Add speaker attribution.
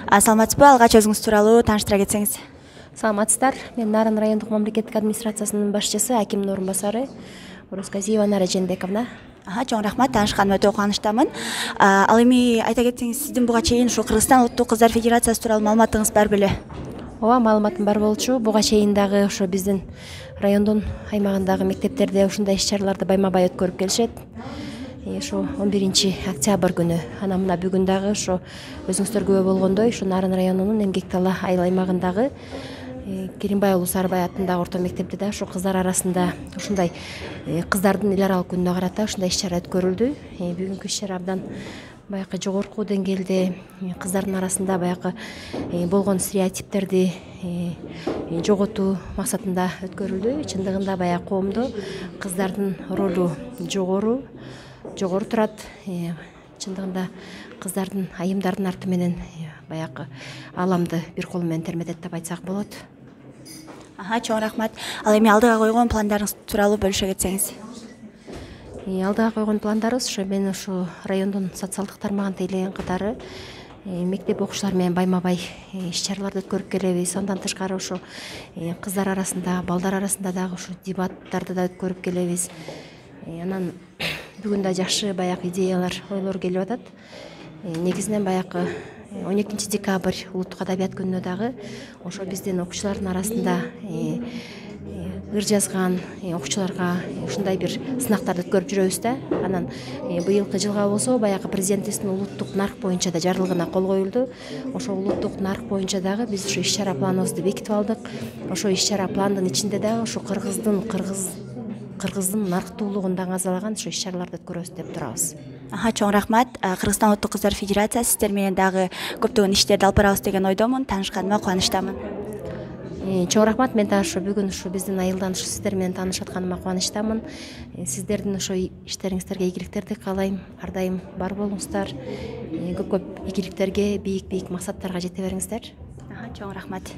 Speaker 1: Саламатсызбы? Алгач өзүңүз тууралуу тааныштыра кетсеңиз.
Speaker 2: Саламатсыздар. Мен Нарын райондук мамлекеттик администрациясынын башчысы, акимдин орун басары Орозказиева Нара Жээнбековна.
Speaker 1: Чоң рахмат, таанышканыма өтө кубанычтамын. Ал эми айта кетсеңиз, сиздин буга чейин ушу Кыргызстан Улуттук Кыздар Федерациясы тууралуу маалыматыңыз бар беле?
Speaker 2: Ооба, маалыматым бар болчу. Буга чейин дагы ошо биздин райондун аймагындагы мектептерде ушундай иш-чараларды байма-бай өткөрүп келишет. Ошо 11-октябрь күнү, анан мына бүгүн дагы ошо өзүңүздөр күбө болгондой, ушу Нарын районунун Эмгек Дала айыл аймагындагы Керимбай уулу Сарыбай атындагы орто мектепте да ушу кыздар арасында ушундай кыздардын эл аралык күнүнө карата ушундай иш-чара өткөрүлдү. Бүгүнкү иш-чара абдан баягы жогорку деңгээлде кыздардын арасында баягы болгон стереотиптерди жоготуу максатында өткөрүлдү. Чындыгында баягы коомдо кыздардын ролу жогору турат. Чындыгында кыздардын айымдардын арты менен баягы ааламды бир колу менен терметет деп айтсак болот.
Speaker 1: Чоң рахмат. Ал эми алдыга койгон пландарыңыз тууралуу бөлүшө кетсеңиз.
Speaker 2: Алдыга койгон пландарыбыз ошо мен ушу райондун социалдык тармагын тейлеген катары мектеп окуучулары менен байма-бай иш-чараларды өткөрүп келебиз. Андан тышкары ошо кыздар арасында, балдар арасында дагы ушу дебаттарды да өткөрүп келебиз. Анан бүгүн да жакшы баягы идеялар, ойлор келип атат. Негизинен баягы 12 декабрь улуттук адабият күнүнө дагы ошо биздин окуучулардын арасында ыр жазган окуучуларга ушундай бир сынактарды өткөрүп жүрөбүз да. Анан быйылкы жылга болсо баягы президентибиздин улуттук нарк боюнча да жарлыгына кол коюлду. Ошо улуттук нарк боюнча дагы биз ушу иш-чара планыбызды бекитип алдык. Ошо иш-чара пландын ичинде дагы ушу кыргыздын нарктуулугун даңазалаган ушу иш-чараларды өткөрөбүз деп турабыз.
Speaker 1: Чоң рахмат. Кыргызстан Улуттук Кыздар Федерациясы сиздер менен дагы көптөгөн иштерди алып барабыз деген ойдомун. Таанышканыма кубанычтамын.
Speaker 2: Чоң рахмат. Мен дагы ушу бүгүн ушу биздин айылдан ушу сиздер менен таанышып атканыма кубанычтамын. Сиздердин ошо иштериңиздерге ийгиликтерди каалайм. Ар дайым бар болуңуздар. Көп игиликтерге, бийик максаттарга жете бериңиздер.
Speaker 1: Чоң рахмат.